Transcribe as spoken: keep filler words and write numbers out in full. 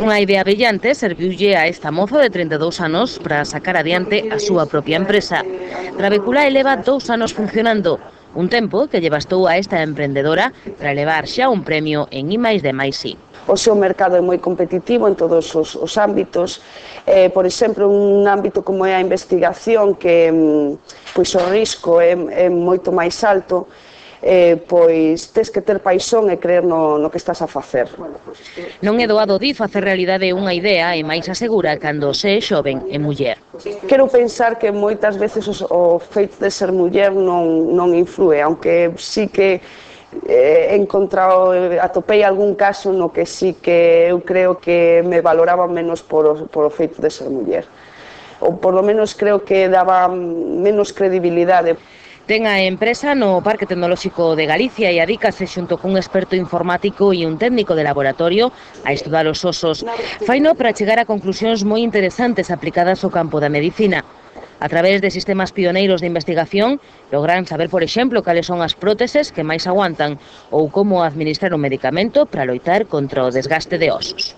Unha idea brillante serviulle a esta moza de trinta e dous anos para sacar adiante a súa propia empresa. Trabecula eleva dous anos funcionando, un tempo que lle bastou a esta emprendedora para levar xa un premio en I máis D máis I. O seu mercado é moi competitivo en todos os, os ámbitos, eh, por exemplo, un ámbito como é a investigación, que pois o risco é, é moito máis alto, eh, pois tes que ter paixón e creer no, no que estás a facer. Non é doado di facer realidade unha idea e máis asegura cando se é xoven e muller. Quero pensar que moitas veces os, o feito de ser muller non, non influe, aunque sí que he encontrado, atopei algún caso no que sí que eu creo que me valoraban menos por o, por o feito de ser muller. Ou por lo menos creo que daba menos credibilidade. Ten a empresa no Parque Tecnolóxico de Galicia e adícase xunto cun experto informático e un técnico de laboratorio a estudar os osos. Faino para chegar a conclusións moi interesantes aplicadas ao campo da medicina. A través de sistemas pioneiros de investigación, logran saber, por exemplo, cales son as próteses que máis aguantan ou como administrar un medicamento para loitar contra o desgaste de osos.